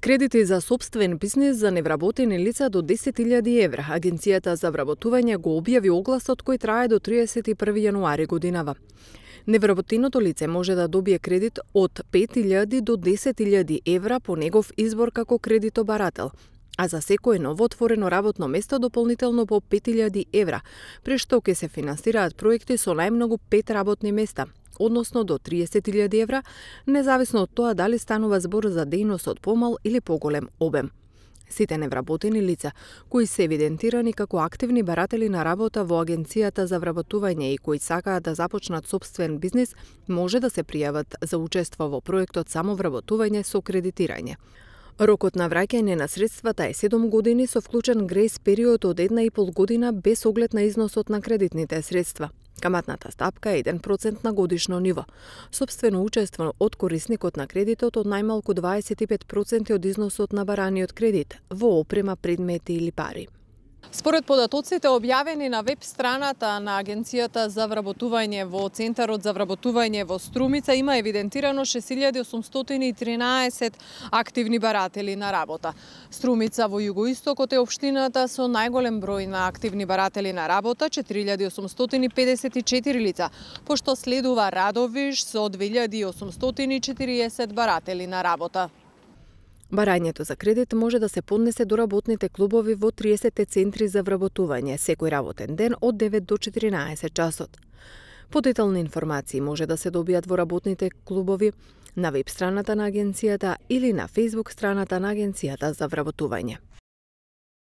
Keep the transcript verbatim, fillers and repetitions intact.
Кредити за сопствен бизнис за невработени лица до десет илјади евра. Агенцијата за вработување го објави огласот кој трае до триесет и први јануари годинава. Невработеното лице може да добие кредит од пет илјади до десет илјади евра по негов избор како кредитобарател, а за секое новоотворено работно место дополнително по пет илјади евра, при што ќе се финансираат проекти со најмногу пет работни места, односно до триесет илјади евра, независно од тоа дали станува збор за дејност од помал или поголем обем. Сите невработени лица, кои се евидентирани како активни баратели на работа во Агенцијата за вработување и кои сакаат да започнат сопствен бизнис, може да се пријават за учество во проектот самовработување со кредитирање. Рокот на враќање на средствата е седум години со вклучен грејс период од една и пол година без оглед на износот на кредитните средства. Каматната стапка е еден процент на годишно ниво. Сопствено учество од корисникот на кредитот од најмалку дваесет и пет проценти од износот на бараниот кредит во опрема, предмети или пари. Според податоците објавени на веб страната на Агенцијата за вработување во Центарот за вработување во Струмица, има евидентирано шест илјади осумстотини и тринаесет активни баратели на работа. Струмица во југоистокот е општината со најголем број на активни баратели на работа, четири илјади осумстотини педесет и четири лица, пошто следува Радовиш со две илјади осумстотини и четириесет баратели на работа. Барањето за кредит може да се поднесе до работните клубови во триесет центри за вработување секој работен ден од девет до четиринаесет часот. Подетални информации може да се добијат во работните клубови, на веб страната на агенцијата или на Facebook страната на Агенцијата за вработување.